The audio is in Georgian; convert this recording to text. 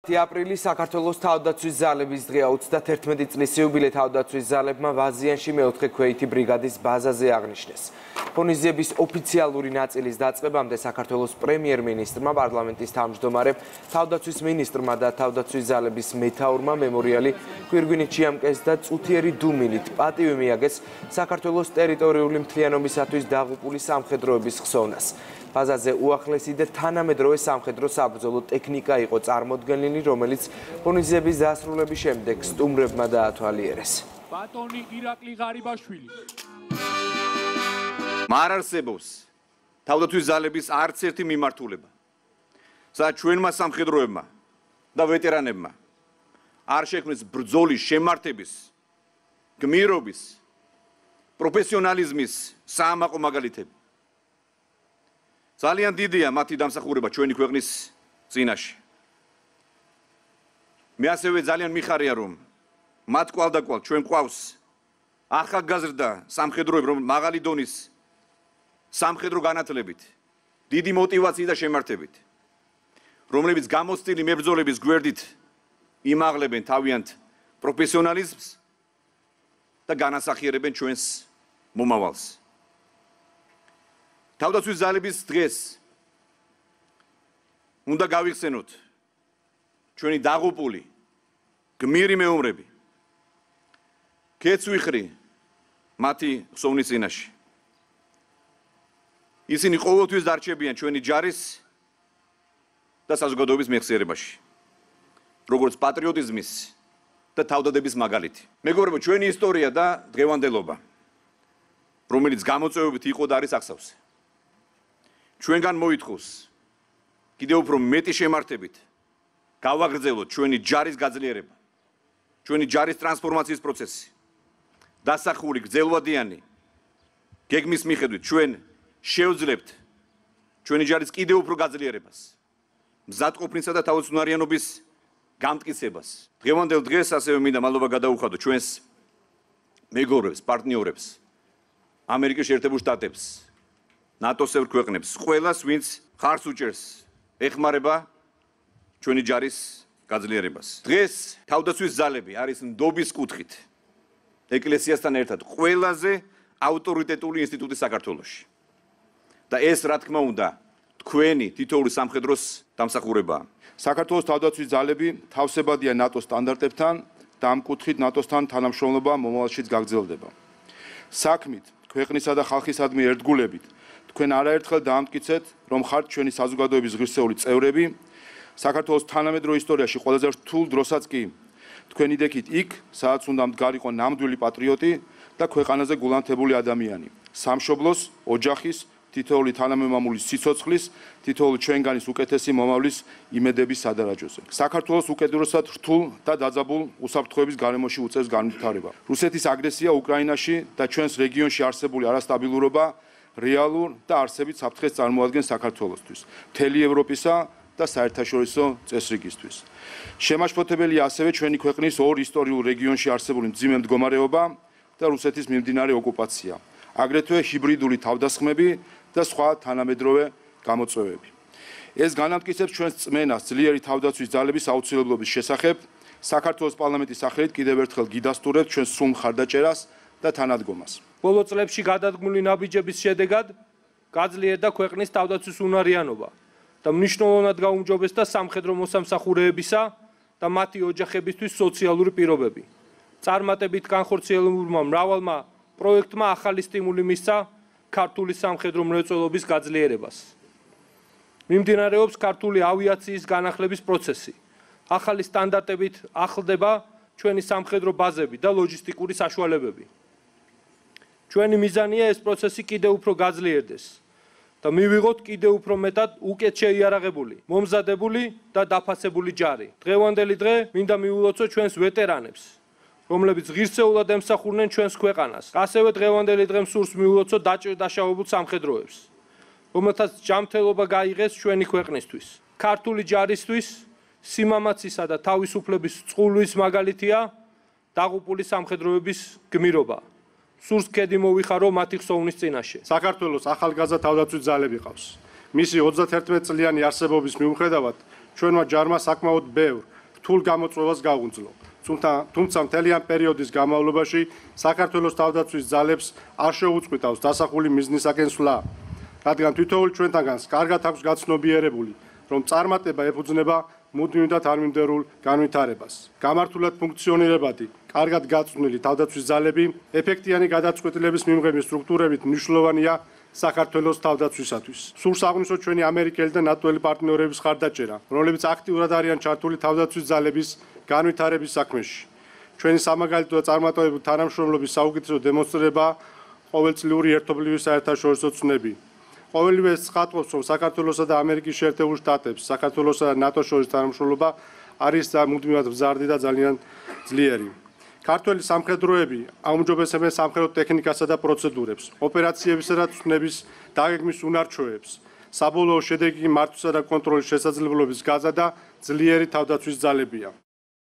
10 აპრილი საქართველოს თავდაცვის ძალების დღეა. 31 წლის იუბილე თავდაცვის ძალებმა ვაზიანში მეოთხე ქვეითი ბრიგადის ბაზაზე აღნიშნეს. ღონისძიების ოფიციალური ნაწილის დაწყებამდე საქართველოს პრემიერ-მინისტრმა, პარლამენტის თავმჯდომარემ, თავდაცვის მინისტრმა და თავდაცვის ძალების მეთაურმა მემორიალი გვირგვინით შეამკეს და წუთიერი დუმილით პატივი მიაგეს საქართველოს ტერიტორიული მთლიანობისათვის დაღუპული სამხედროების ხსოვნას. ბაზაზე უახლესი და თანამედროვე სამხედრო საბრძოლო ტექნიკა იყო წარმოდგენილი, რომელიც ღონისძიების დასრულების შემდეგ სტუმრებმა დაათვალიერეს. ბატონი ირაკლი ღარიბაშვილი. არ არსებობს თავდაცვის ძალების არც ერთი მიმართულება, სადაც ჩვენმა სამხედროებმა და ვეტერანებმა არ შექმნეს ბრძოლის შემართების, გმირობის, პროფესიონალიზმის საამაყო მაგალითები. ძალიან დიდია მათი დამსახურება ჩვენი ქვეყნის წინაშე. მე ასევე ძალიან მიხარია, რომ მათ კვალდაკვალ ჩვენ გვყავს ახალგაზრდა სამხედროები, რომ მაღალი დონის სამხედრო განათლებით, დიდი мотивაციით და შემართებით, რომლებიც გამოცდილი მებრძოლების გვერდით იმაღლებენ თავიანთ პროფესიონალიზმს და განასახიერებენ ჩვენს მომავალს. თავდაცვის ძალების დღეს უნდა გავიხსენოთ ჩვენი დაღუპული გმირი მეომრები. ქეც ვიხრი მათი ხსოვნის წინაშე. ისინი ყოველთვის დარჩებიან ჩვენი ჯარის და საზოგადოების მეხსიერებაში, როგორც პატრიოტიზმის და თავდადების მაგალითი. მეგობრებო, ჩვენი ისტორია და დღევანდელობა, რომელიც გამოწვევებით იყო და არის აღსავსე. ჩვენგან მოითხოვს კიდევ უფრო მეტი შემართებით გავაგრძელოთ ჩვენი ჯარის გაძლიერება, ჩვენი ჯარის ტრანსფორმაციის პროცესი, დასახული გრძელვადიანი გეგმის მიხედვით ჩვენ შევძლებთ ჩვენი ჯარის კიდევ უფრო გაძლიერებას, მზადყოფნისა და თავისუფლიანობის გამტკიცებას. დღევანდელ დღეს ასევე მინდა მადლობა გადაუხადო ჩვენს მეგობრებს, პარტნიორებს, ამერიკის შეერთებულ შტატებს, ნატოს-ევრ ქვეყნებს, ყველას, ვინც ხარს უჭერს ეხმარება ჩვენი ჯარის გაძლიერებას. დღეს თავდაცვის ძალები არის ნდობის კუთხით ეკლესიასთან ერთად ყველაზე ავტორიტეტული ინსტიტუტი საქართველოში. და ეს, რა თქმა უნდა, თქვენი თითოეული სამხედროს დამსახურებაა. საქართველოს თავდაცვის ძალები თავსებადია ნატოს სტანდარტებთან და ამ კუთხით ნატოსთან თანამშრომლობა მომავალშიც გაგრძელდება. საქმით, ქვეყნისა და ხალხისადმი ერთგულებით თქვენ არაერთხელ დაამტკიცეთ, რომ ხართ ჩვენი საზოგადოების ღირსეული წევრები, საქართველოს თანამედროვე ისტორიაში ყველაზე რთულ დროსაც კი თქვენი დექით იქ, სადაც უნდა მდგარიყო ნამდვილი პატრიოტი და ქვეყანაზე გულანთებული ადამიანი, სამშობლოს, ოჯახის, თითოეული თანამემამულის სიცოცხლის, თითოეული ჩვენგანის უკეთესი მომავლის იმედების სადარაჯოზე. საქართველოს უკიდურესად რთულ და დაძაბულ უსაფრთხოების გარემოში უწევს განვითარება. რუსეთის აგრესია უკრაინაში და ჩვენს რეგიონში არსებული არასტაბილურობა რეალურ და არსებით საფრთხეს წარმოადგენს საქართველოსთვის, მთელი ევროპისა და საერთაშორისო წესრიგისთვის. შემაშფოთებელია ასევე ჩვენი ქვეყნის ორ ისტორიულ რეგიონში არსებული მძიმე მდგომარეობა და რუსეთის მიმდინარე ოკუპაცია, აგრეთვე ჰიბრიდული თავდასხმები და სხვა თანამედროვე გამოწვევები. ეს განამტკიცებს ჩვენს წმენას ძლიერი თავდაცვის ძალების აუცილებლობის შესახებ. საქართველოს პარლამენტის სახელით კიდევ ერთხელ გიდასტურებთ ჩვენს სრულ მხარდაჭერას და თანადგომას. ბოლო წლებში გადადგმული ნაბიჯების შედეგად გაძლიერდა ქვეყნის თავდაცვის უნარიანობა და მნიშვნელოვნად გაუმჯობესდა სამხედრო მოსამსახურეებისა და მათი ოჯახებისთვის სოციალური პირობები. წარმატებით განხორციელებულმა მრავალმა პროექტმა ახალი სტიმული მისცა ქართული სამხედრო მრეწველობის გაძლიერებას. მიმდინარეობს ქართული ავიაციის განახლების პროცესი. ახალი სტანდარტებით ახლდება ჩვენი სამხედრო ბაზები და ლოჯისტიკური საშუალებები. ჩვენი მიზანია ეს პროცესი კიდევ უფრო გაძლიერდეს და მივიღოთ კიდევ უფრო მეტად უკეთ შეიარაღებული, მომზადებული და დაფასებული ჯარი. დღევანდელი დღე მინდა მიულოცო ჩვენს ვეტერანებს, რომლებიც ღირსეულად ემსახურნენ ჩვენს ქვეყანას. ასევე დღევანდელი დღე მსურს მიულოცო დაჭირ-დაშავებულ სამხედროებს, რომელთაც ჯანმრთელობა გაიღეს ჩვენი ქვეყნისთვის. ქართული ჯარისთვის სიმამაცისა და თავისუფლების წყვილის მაგალითია დაღუპული სამხედროების გმირობა. სურს ქედი მოვიხარო მათი ხსოვნის წინაშე. საქართველოს ახალგაზრდა თავდაცვის ძალები ყავს. მისი 31 წლიანი არსებობის მიუხედავად ჩვენმა ჯარმა საკმაოდ ბევრ რთულ გამოწვევას გაუძლო. თუმცა მთელი ამ პერიოდის განმავლობაში საქართველოს თავდაცვის ძალებს არ შეუწყვიტავს დასახული მიზნისაკენ სვლა, რადგან თითოეულ ჩვენთაგანს კარგად აქვს გაცნობიერებული, რომ წარმატება ეფუძნება მუდმივ და თანმიმდევრულ განვითარებას. გამართულად ფუნქციონირებადი, კარგად გაწვნილი თავდაცვის ძალები ეფექტიანი გადაწყვეტილების მიღების სტრუქტურებით მნიშვნელოვანია საქართველოს თავდაცვისათვის. სურს აღვნიშნოთ ჩვენი ამერიკელი და ნატოელი პარტნიორების ხარდაჭერა, რომლებიც აქტიურად არიან ჩართული თავდაცვის ძალების განვითარების საქმეში. ჩვენი სამაგალითო და წარმატებული თანამშრომლობის საუკეთესო დემონსტრირება ყოველწლიური ერთობლივი საერთაშორისო ცნები. ყოველივე ცხადყოფს, რომ საქართველოსა და ამერიკის შეერთებულ შტატებს, საქართველოსა და ნატოს შორის თანამშრომლობა არის მუდმივად მზარდი და ძალიან ძლიერი. ქართველი სამხედროები აუმჯობესებენ სამხედრო ტექნიკასა და პროცედურებს, ოპერაციებისა და ცნების დაგეგმვის უნარჩვევებს, საბოლოო შედეგი მართვისა და კონტროლის შესაძლებლობის გაზა და ძლიერი თავდაცვის ძალებია.